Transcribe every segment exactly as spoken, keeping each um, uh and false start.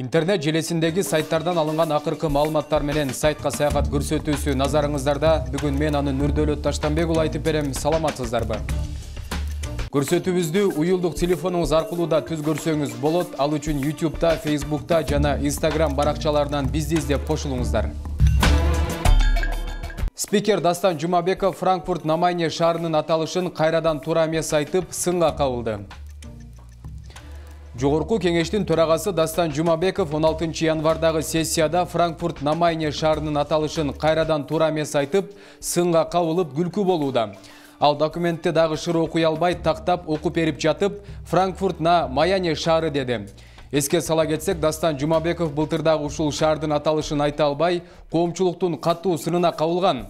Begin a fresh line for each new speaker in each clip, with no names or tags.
Интернет желесиндеги сайттардан алынган акыркы маалыматтар менен сайтка саякат көрсөтүүсү назарыңыздарда. Бүгүн мен аны Нурдөлөт Таштанбек уулу айтып берем. Саламатсыздарбы? Көрсөтүүбүздү уюлдук телефонуңуз аркылуу да түз көрсөңүз болот. Ал үчүн YouTube'да, Facebook'та жана Instagram баракчаларынан бизди издеп кошулуңуздар. Спикер Дастан Жумабеков Франкфурт на Майне шаарынын аталышын кайрадан туура эмес айтып, сынга кабылды. Жогорку кеңештин төрагасы Дастан Жумабеков он алтынчы январдагы сессияда Франкфурт на Майне шаарынын аталышын кайрадан туура эмес айтып, сынга кабылып күлкү болууда. Ал документти дагы шыр окуй албай, тактап окуп берип жатып, Франкфурт на Майне шаары деди. Эске сала кетсек, Дастан Жумабеков былтырдагы ушул шаардын аталышын айта албай, коомчулуктун катуу сынына кабылган.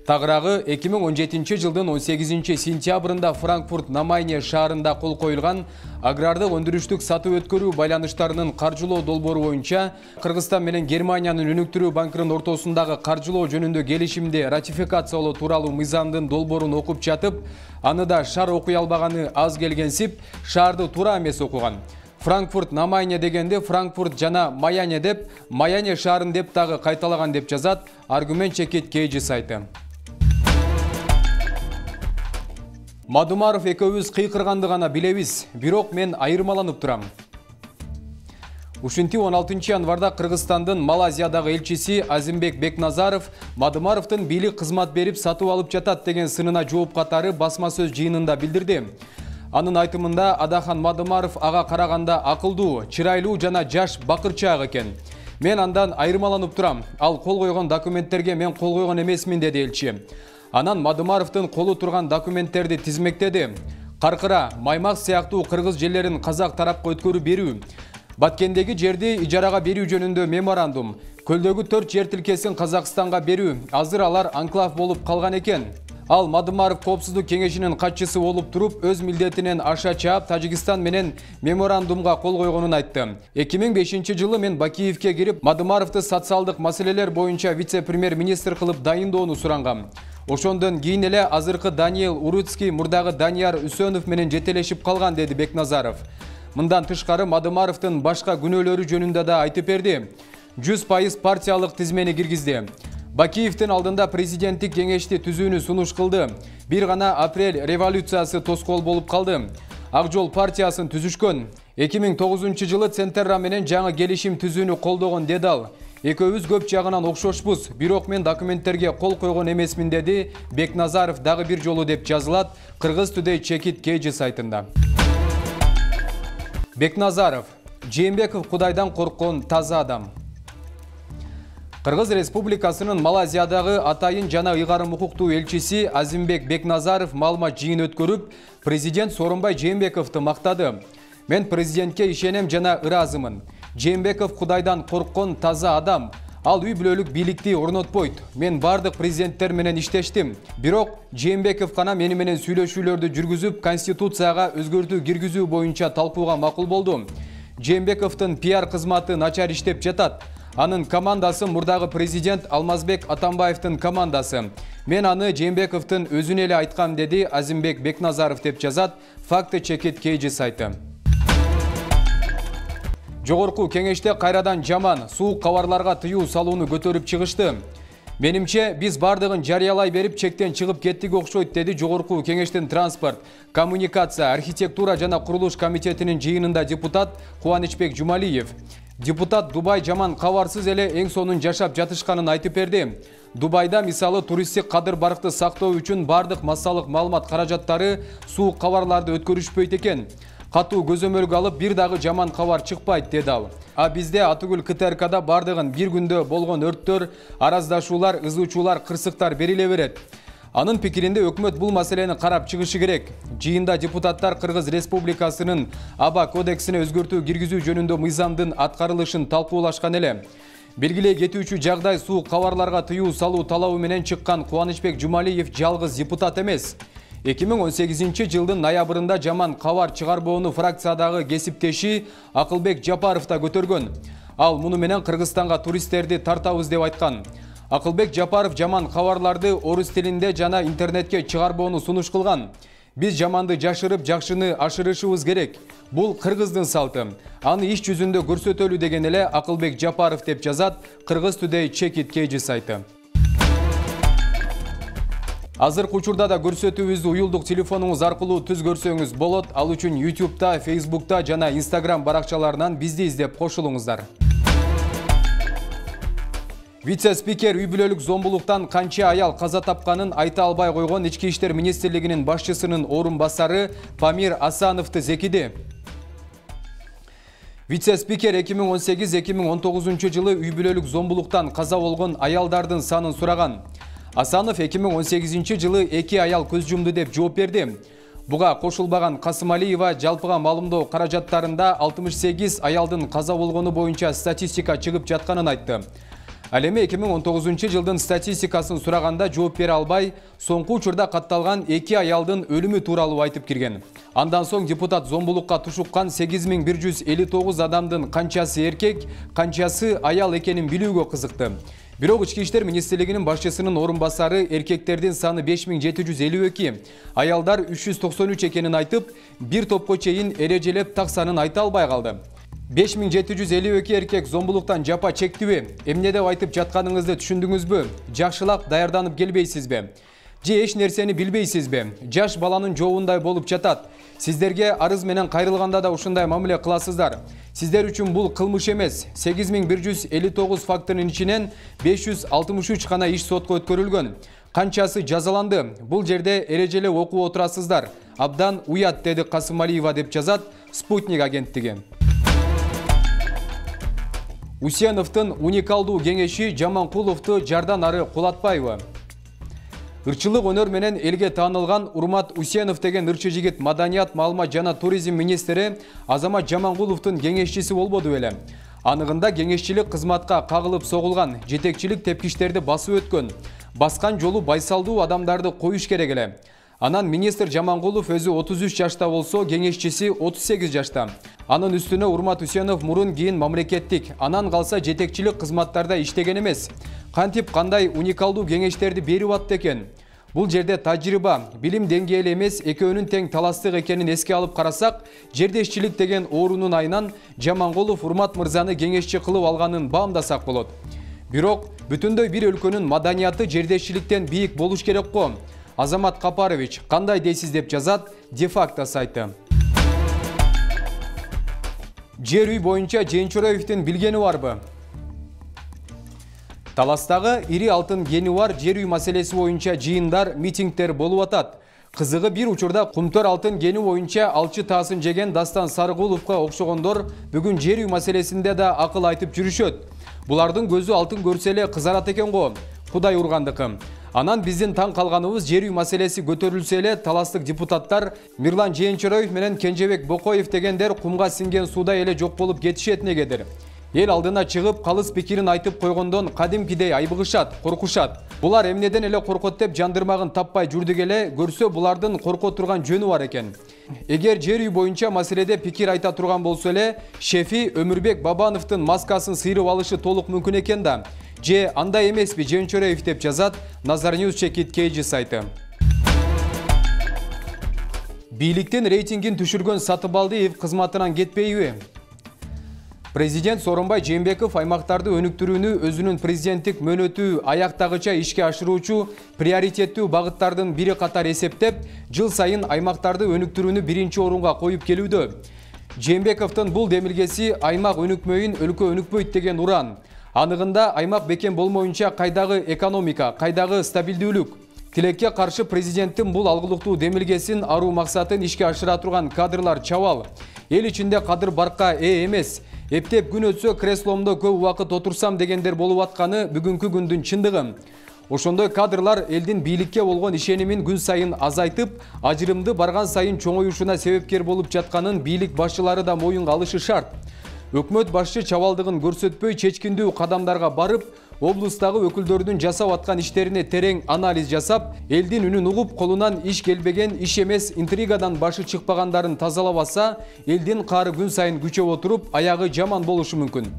Тагыраагы эки миң он жетинчи жылдын он сегизинчи сентябрында Франкфурт на Майне шаарында кол коюлган агрардык өндүрүштүк сатуу өткөрүү байланыштарынын каржылоо долбоору боюнча Кыргызстан менен Германиянын өнүктүрүү банкынын ортосундагы каржылоо жөнүндө келишимди ратификациялоо тууралуу мыйзамдын долбоорун окуп жатып, аны да шар окуй албаганы аз келгенсип, шаарды туура эмес окуган. Франкфурт на Майне дегенде Франкфурт жана Майне деп, Майне шаарын деп дагы кайталаган деп жазат Аргумент чекит кей сайты. Мадумаров экөөбүз кыйкырганды гана билебиз, бирок мен айырмаланып турам. Ушинтип он алтынчы январда Кыргызстандын Малайзиядагы элчиси Азимбек Бекназаров Мадумаровдун бийлик кызмат берип сатып алып жатат деген сынына жооп катары басма сөз жыйынында билдирди. Анын айтымында Адахан Мадумаров ага караганда акылдуу, чырайлуу жана жаш бакырчаак экен. Мен андан айырмаланып турам. Ал кол койгон документтерге мен кол койгон эмесмин, деди элчи. Анан Мадумаровдун колу турган документтерди тизмектеди. Каркыра, Маймак сыяктуу кыргыз жерлерин казак тарапка өткөрүп берүү, Баткендеги жерди ижарага берүү жөнүндө меморандум, Көлдөгү төрт жер тилкесин Казакстанга берүү, азыр алар анклав болуп калган экен. Ал Мадумаров коопсуздук кеңешинин катчысы болуп туруп, өз милдетинен аша чаап Тажикстан менен меморандумга кол койгонун айтты. эки миң бешинчи жылы мен Бакиевке кирип, Мадумаровду социалдык маселелер боюнча вице-премьер-министр кылып дайындоону сурангам. Ошондон кийин эле азыркы Даниэл Уруцкий мурдагы Данияр Үсөнов менен жетелешип калган, деди Бекназаров. Мындан тышкары Мадумаровдун башка күнөөлөрү жөнүндө да айтып берди. жүз пайыз партиялык тизмени киргизди. Бакиевдин алдында президенттик кеңешти түзүүнү сунуш кылды. Бир гана апрель революциясы тоскоол болуп калды. Ак жол партиясын түзүшкөн. эки миң тогузунчу жылы Центерра менен жаңы келишим түзүүнү колдогон, деди ал. Экөөбүз көп жагынан окшошпуз, бирок мен документтерге кол койгон эмесмин, деди Бекназаров дагы бир жолу, деп жазылат Кыргыз Today чекит кей сайтында. Бекназаров: Жээнбеков Кудайдан корккон таза адам. Кыргыз Республикасынын Малайзиядагы атайын жана ыйгарым укуктуу элчиси Азимбек Бекназаров маалымат жыйын өткөрүп, президент Сооронбай Жээнбековду мактады. Мен президентке ишенем жана ыраазымын. Жээнбеков Кудайдан корккон таза адам. Ал үй бүлөлүк бийликти орнотпойт. Мен бардык президенттер менен иштештим. Бирок Жээнбеков гана мени менен сүйлөшүүлөрдү жүргүзүп, конституцияга өзгөртүү киргизүү боюнча талкууга макул болду. Жээнбековдун пиар кызматы начар иштеп жатат. Анын командасы мурдагы президент Алмазбек Атамбаевдин командасы. Мен аны Жээнбековдун өзүнө эле айткам, деди Азимбек Бекназаров, деп жазат Факты чекит кей сайты. Жогорку кеңеште кайрадан жаман, суук кабарларга тыюу салууну көтөрүп чыгышты. Менимче, биз бардыгын жарыялай берип чектен чыгып кеттик окшойт, деди Жогорку кеңештин транспорт, коммуникация, архитектура жана курулуш комитетинин жыйынында депутат Кубанычбек Жумалиев. Депутат Дубай жаман кабарсыз эле эң сонун жашап жатышканын айтып берди. Дубайда мисалы туристтик кадыр барыкты сактоо үчүн бардык массалык маалымат каражаттары суук кабарларды өткөрүшпөйт экен. Катуу көзөмөлгө алып, бир дагы жаман кабар чыкпайт, деди ал. А бизде атыгүл КТРКда бардыгын бир күндө болгон өрттөр, араздашуулар, ызуучулар, кырсыктар бериле берет. Анын пикиринде өкмөт бул маселени карап чыгышы керек. Жыйында депутаттар Кыргыз Республикасынын Аба кодексине өзгөртүү киргизүү жөнүндө мыйзамдын аткарылышын талкуулашкан эле. Белгилей кетүүчү жагдай суук кабарларга тыюу салуу талабы менен чыккан Кубанычбек Жумалиев жалгыз депутат эмес. эки миң он сегизинчи жылдын ноябрында жаман кабар чыгарбоону фракциядагы кесиптеши Акылбек Жапаров да көтөргөн. Ал муну менен Кыргызстанга туристтерди тартабыз деп айткан. Акылбек Жапаров жаман кабарларды орус тилинде жана интернетке чыгарбоону сунуш кылган. Биз жаманды жашырып, жакшыны ашырышыбыз керек. Бул кыргыздын салты. Аны иш жүзүндө көрсөтөлү деген эле Акылбек Жапаров деп жазат Кыргыз Today Check It Kg сайты. Азыркы учурда да көрсөтүүбүздү уюлдук телефонуңуз аркылуу түз көрсөңүз болот. Ал үчүн YouTube'та, Facebook'та жана Instagram баракчаларынан бизди издеп кошулуңуздар. Вице-спикер үй бүлөлүк зомбулуктан канча аял каза тапканын айта албай койгон Ички иштер министрлигинин башчысынын орун басары Памир Асановду зекиди. Вице-спикер эки миң он сегиз эки миң он тогузунчу жылы үй бүлөлүк зомбулуктан каза болгон аялдардын санын сураган. Асанов эки миң он сегизинчи жылы эки аял көз жумду деп жооп берди. Буга кошулбаган Касымалиева жалпыга маалымдоо каражаттарында алтымыш сегиз аялдын каза болгону боюнча статистика чыгып жатканын айтты. Ал эми эки миң он тогузунчу жылдын статистикасын сураганда жооп бере албай, соңку учурда катталган эки аялдын өлүмү тууралуу айтып кирген. Андан соң депутат зомбулукка тушуккан сегиз миң бир жүз элүү тогуз адамдын канчасы эркек, канчасы аял экенин билүүгө кызыкты. Бирок Ички иштер министрлигинин башчысынын орун басары эркектердин саны беш миң жети жүз элүү эки, аялдар үч жүз токсон үч экенин айтып, бир топко чейин эрежелеп так санын айта албай калды. беш миң жети жүз элүү эки эркек зомбулуктан жапа чектиби? Эмне деп айтып жатканыңызды түшүндүңүзбү? Жакшылап даярданып келбейсизби? Же эч нерсени билбейсизби? Жаш баланын жообундай болуп жатат. Сиздерге арыз менен кайрылганда да ушундай мамиле кыласыздар. Сиздер үчүн бул кылмыш эмес. сегиз миң бир жүз элүү тогуз фактынын ичинен беш жүз алтымыш үч гана иш сотко өткөрүлгөн. Канчасы жазаланды? Бул жерде эрежелеп окуп отурасыздар. Абдан уят, деди Касымалиева деп жазат Спутник агенттиги. Усеновдун уникалдуу кеңеши Жаманкуловду жардан ары кулатпайбы? Ырчылык өнөр менен элге таанылган Урмат Усенов деген ырчы жигит маданият, маалымат жана туризм министри Азамат Жаманкуловдун кеңешчиси болбоду беле. Аныгында кеңешчилик кызматка кагылып согулган, жетекчилик тепкичтерди басып өткөн. Баскан жолу байсалдуу адамдарды коюш керек эле. Анан министр Жаманкулов өзү отуз үч жашта болсо, кеңешчиси отуз сегиз жашта. Анын үстүнө Урмат Усенов мурун кийин мамлекеттик, анан калса жетекчилик кызматтарда иштеген эмес. Кантип кандай уникалдуу кеңештерди берип атты экен? Бул жерде тажрыйба, билим деңгээли эмес, экөөнүн тең таластык экенин эске алып карасак, жердешчилик деген оорунун айынан Жаманкулов Урмат мырзаны кеңешчи кылып алганын баамдасак болот. Бирок бүтүндөй бир өлкөнүн маданияты жердешчиликтен бийик болуш керек го. Азамат Капарович кандай дейсиз деп жазат Де-факто сайты. Жер үй боюнча Жээнчураевдин билгени барбы? Таластагы ири алтын кени бар жер үй маселеси боюнча жыйындар, митингдер болуп атат. Кызыгы бир учурда Кумтөр алтын кени боюнча алчы таасын жеген Дастан Сарыгуловго окшогондор бүгүн жер үй маселесинде да акыл айтып жүрүшөт. Булардын көзү алтын көрсө эле кызарат экен го. Кудай ургандыкы. Анан биздин таң калганыбыз жер үй маселеси көтөрүлсө эле таластык депутаттар Мирлан Жээнчураев менен Кенжебек Бокоев дегендер кумга синген сууда эле жок болуп кетишет негедир. Эл алдына чыгып калыс пикирин айтып койгондон кадимкидей айбыгышат, коркушат. Булар эмнеден эле коркот деп жандырмагын таппай жүрдүк эле, көрсө булардын корко турган жөнү бар экен. Эгер жер үй боюнча маселеде пикир айта турган болсо эле, шефи Өмүрбек Бабановдун маскасын сыйрып алышы толук мүмкүн экен да. Же андай эмеспи Жээнчураев деп жазат Назарnews Check It Kg сайты. Бийликтин рейтингин түшүргөн Сатыбалдиев кызматынан кетпейби? Президент Сооронбай Жээнбеков аймактарды өнүктүрүүнү өзүнүн президенттик мөөнөтү аяктагыча ишке ашыруучу приоритеттүү багыттардын бири катары эсептеп, жыл сайын аймактарды өнүктүрүүнү биринчи орунга коюп келүүдө. Жээнбековдун бул демилгеси аймак өнүкмөйүн өлкө өнүкпөйт деген уран. Аныгында аймак бекем болмоюнча кайдагы экономика, кайдагы стабилдүүлүк? Тилекке каршы президенттин бул алгылыктуу демилгесин аруу максатын ишке ашыра турган кадрлар чабал. Эл ичинде кадыр баркка ээ эмес. Эптеп күн өтсө кресломдо көп убакыт отурсам дегендер болуп атканы бүгүнкү күндүн чындыгы. Ошондой кадрлар элдин бийликке болгон ишенимин күн сайын азайтып, ажырымды барган сайын чоңоюшуна себепкер болуп жатканын бийлик башчылары да моюнга алышы шарт. Өкмөт башчы чабалдыгын көрсөтпөй чечкиндүү кадамдарга барып, облустагы өкүлдөрдүн жасап аткан иштерине терең анализ жасап, элдин үнүн угуп, колунан иш келбеген, иш эмес интригадан башы чыкпагандарын тазалабаса, элдин каары күн сайын күчөп отуруп, аягы жаман болушу мүмкүн.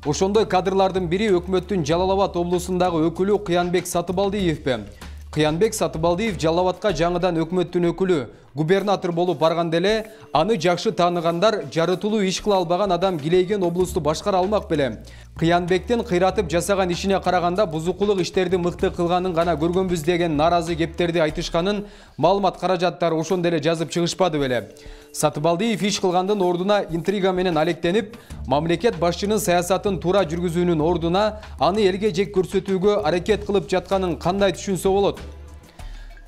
Ошондой кадрлардын бири өкмөттүн Жалал Абад облусундагы өкүлү Кыянбек Сатыбалдиевпи. Кыянбек Сатыбалдиев Жалал Абадка жаңыдан өкмөттүн өкүлү губернатор болуп барганда эле аны жакшы тааныгандар жарытылуу иш кыла албаган адам Гилейген облусту башкара алмак беле. Кыянбектин кыйратып жасаган ишине караганда бузукулук иштерди мыкты кылганын гана көргөнбүз деген наразы кептерди айтышканын маалымат каражаттары ошондо эле жазып чыгышпады беле. Сатыбалдиев иш кылгандын ордуна интрига менен алектенип, мамлекет башчынын саясатын туура жүргүзүүнүн ордуна аны элге жек көрсөтүүгө аракет кылып жатканын кандай түшүнсө болот?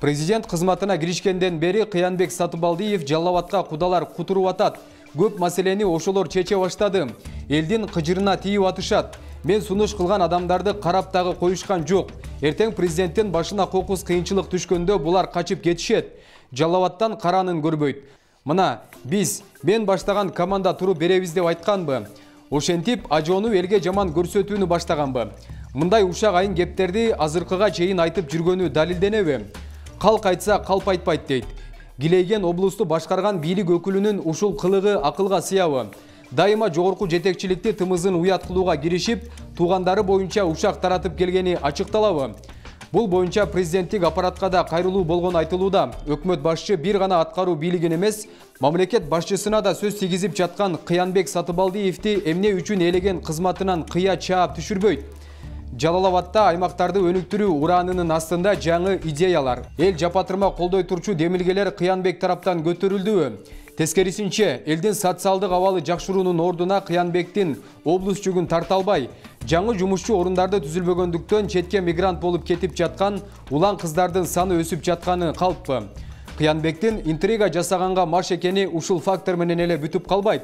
Президент кызматына киришкенден бери Кыянбек Сатыбалдиев Жалал Абадка кудалар кутуруп атат. Көп маселени ошолор чече баштады. Элдин кыжырына тийип атышат. Мен сунуш кылган адамдарды карап дагы коюшкан жок. Эртең президенттин башына кокус кыйынчылык түшкөндө булар качып кетишет. Жалал Абадтан каранын көрбөйт. Мына, биз, мен баштаган команда туруп беребиз деп айтканбы? Ошентип, ажоону элге жаман көрсөтүүнү баштаганбы? Мындай ушак айын кептерди азыркыга чейин айтып жүргөнү далилденеби? Калк айтса калп айтпайт дейт. Гилейген облусту башкарган бийлик өкүлүнүн ушул кылыгы акылга сыябы? Дайыма жогорку жетекчиликти тымызын уят кылууга киришип, туугандары боюнча ушак таратып келгени ачыкталабы? Бул боюнча президенттик аппаратка да кайрылуу болгону айтылууда. Өкмөт башчы бир гана аткаруу бийлигин эмес, мамлекет башчысына да сөз тийгизип жаткан Кыянбек Сатыбалдиевди эмне үчүн элеген кызматынан кыя чаап түшүрбөйт? Жалал Абадта аймактарды өнүктүрүү ураанынын астында жаңы идеялар, эл жапатырма колдой турчу демилгелер Кыянбек тараптан көтөрүлдүбү? Тескерисинче, элдин социалдык абалы жакшыруунун ордуна Кыянбектин облус жүгүн тарта албай, жаңы жумушчу орундарды түзүлбөгөндүктөн четке мигрант болуп кетип жаткан улан кыздардын саны өсүп жатканы калппы? Кыянбектин интрига жасаганга маш экени ушул фактор менен эле бүтүп калбайт.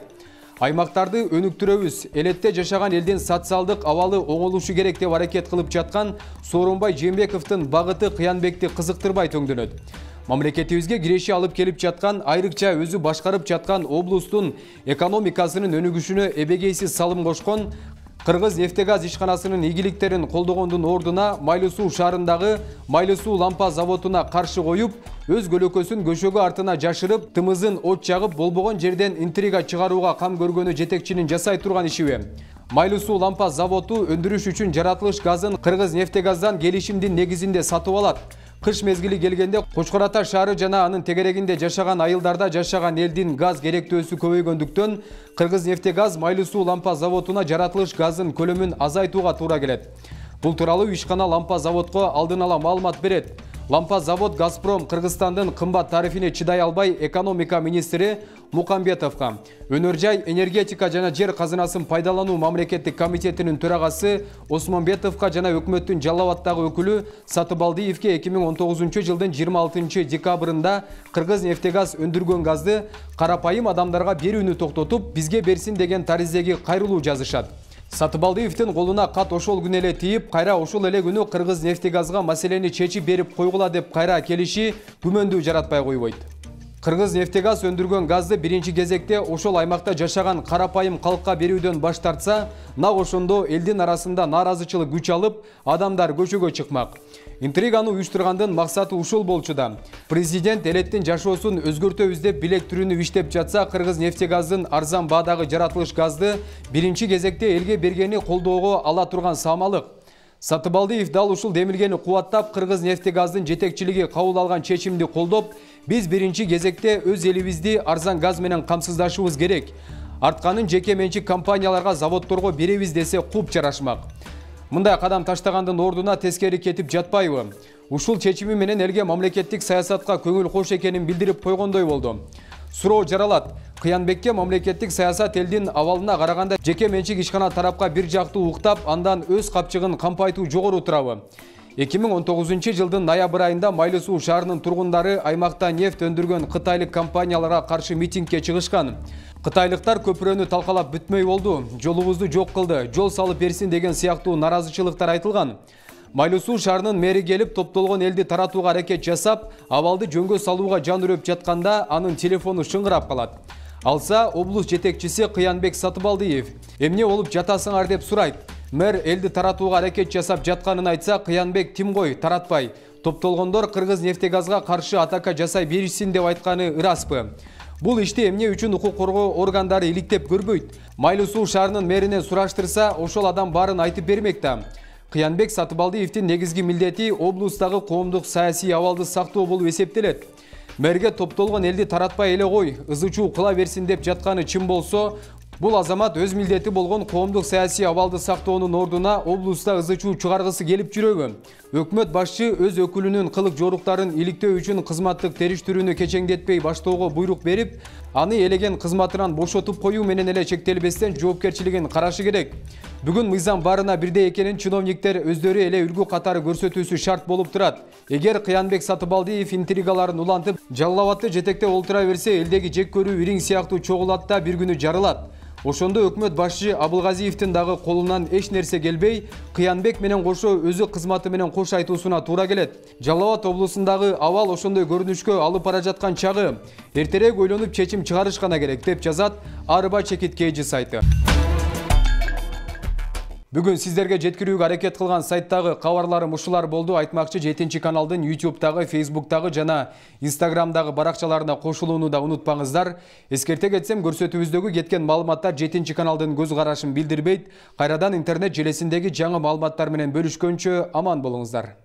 Аймактарды өнүктүрөбүз, элетте жашаган элдин социалдык абалы оңолушу керек деп аракет кылып жаткан Сооронбай Жээнбековдун багыты Кыянбекти кызыктырбай төңдөнөт. Мамлекетибизге киреши алып келип жаткан, айрыкча өзү башкарып жаткан облустун экономикасынын өнүгүшүнө эбегейсиз салым кошкон Кыргыз нефтегаз ишканасынын ийгиликтерин колдогондун ордуна Майлуу Суу шаарындагы Майлуу Суу лампа заводуна каршы коюп, өз көлөкөсүн көшөгө артына жашырып, тымызын от жагып, болбогон жерден интрига чыгарууга кам көргөнү жетекчинин жасай турган ишиби? Майлуу Суу лампа заводу өндүрүш үчүн жаратылыш газын Кыргыз нефтегаздан келишимдин негизинде сатып алат. Кыш мезгили келгенде Кочкор Ата шаары жана анын тегерегинде жашаган айылдарда жашаган элдин газ керектөөсү көбөйгөндүктөн Кыргыз нефтегаз Майлуу Суу лампа заводуна жаратылыш газын көлөмүн азайтууга туура келет. Бул тууралуу ишкана лампа заводко алдын ала маалымат берет. Лампа завод Газпром Кыргызстандын кымбат тарифине чыдай албай экономика министри Мукамбетовго, Өнөр жай, энергетика жана жер казынасын пайдалануу мамлекеттик комитетинин төрагасы Осмонбетовго жана өкмөттүн Жалал Абадтагы өкүлү Сатыбалдиевге эки миң он тогузунчу жылдын жыйырма алтынчы декабрында Кыргыз нефтегаз өндүргөн газды карапайым адамдарга берүүнү токтотуп, бизге берсин деген таризеги кайрылуу жазышат. Сатыбалдиевдин колуна кат ошол күнү эле тийип, кайра ошол эле күнү Кыргыз нефтегазга маселени чечип берип койгула деп кайра келиши күмөндүү жаратпай койбойт. Кыргыз нефтегаз өндүргөн газды биринчи кезекте ошол аймакта жашаган карапайым калкка берүүдөн баш тартса, нак ошондо элдин арасында нааразычылык күч алып, адамдар көчөгө чыкмак. Интриганы уюштургандын максаты ушул болчу да. Президент элеттин жашоосун өзгөртөбүз деп билек түрүнүп иштеп жатса, Кыргыз нефтегаздын арзан баадагы жаратылыш газды биринчи кезекте элге бергени колдоого ала турган саамалык. Сатыбалдиев дал ушул демилгени кубаттап, Кыргыз нефтегаздын жетекчилиги кабыл алган чечимди колдоп, биз биринчи кезекте өз элибизди арзан газ менен камсыздашыбыз керек. Артканын жеке менчик компанияларга, заводдорго беребиз десе куп жарашмак. Мындай кадам таштагандын ордуна тескери кетип жатпайбы? Ушул чечими менен элге мамлекеттик саясатка көңүл кош экенин билдирип койгондой болду. Суроо жаралат. Кыянбекке мамлекеттик саясат элдин абалына караганда жеке менчик ишкана тарапка бир жактуу уктап, андан өз капчыгын кампайтуу жогору турабы? эки миң он тогузунчу жылдын ноябрь айында Майлуу Суу шаарынын тургундары аймакта нефть өндүргөн кытайлык компанияларга каршы митингге чыгышкан. Кытайлыктар көпүрөнү талкалап бүтмөй болду, жолубузду жок кылды, жол салып берсин деген сыяктуу наразычылыктар айтылган. Майлуу Суу шаарынын мэри келип топтолгон элди таратууга аракет жасап, абалды жөнгө салууга жан үрөп жатканда анын телефону шыңгырап калат. Алса, облус жетекчиси Кыянбек Сатыбалдиев эмне болуп жатасыңар деп сурайт. Мэр элди таратууга аракет жасап жатканын айтса, Кыянбек тим кой, таратпай. Топтолгондор Кыргыз нефтегазга каршы атака жасай беришсин деп айтканы ыраспы? Бул ишти эмне үчүн укук коргоо органдары иликтеп көрбөйт? Майлуу Суу шаарынын мэринен сураштырса, ошол адам баарын айтып бермек да. Кыянбек Сатыбалдиевдин негизги милдети облустагы коомдук саясий абалды сактоо болуп эсептелет. Мэрге топтолгон элди таратпай эле кой, ызы чуу кыла берсин деп жатканы чын болсо, бул азамат өз милдети болгон коомдук саясий абалды сактоонун ордуна облуста ызы чуу чыгаргысы келип жүрөбү? Өкмөт башчы өз өкүлүнүн кылык жоруктарын иликтөө үчүн кызматтык териштирүүнү кечеңдетпей баштоого буйрук берип, аны элеген кызматынан бошотуп коюу менен эле чектелбестен жоопкерчилигин карашы керек. Бүгүн мыйзам баарына бирдей экенин чиновниктер өздөрү эле үлгү катары көрсөтүүсү шарт болуп турат. Эгер Кыянбек Сатыбалдиев интригаларын улантып, Жалал Абадты жетектеп олтура берсе, элдеги жек көрүү ириң сыяктуу чогулат да бир күнү жарылат. Ошондо өкмөт башчы Абылгазиевдин дагы колунан эч нерсе келбей, Кыянбек менен кошо өзү кызматы менен кош айтуусуна туура келет. Жалал Абад облусундагы абал ошондой көрүнүшкө алып бара жаткан чагы. Эртерээк ойлонуп чечим чыгарыш гана керек, деп жазат Арба Чекит Кейжи сайты. Бүгүн сиздерге жеткирүүгө аракет кылган сайттагы кабарларым ушулар болду. Айтмакчы, жетинчи каналдын ютубтагы, фейсбуктагы жана инстаграмдагы баракчаларына кошулууну да унутпаңыздар. Эскерте кетсем, көрсөтүүбүздөгү кеткен маалыматтар жетинчи каналдын көз карашын билдирбейт. Кайрадан интернет желесиндеги жаңы маалыматтар менен бөлүшкөнчө аман болуңуздар.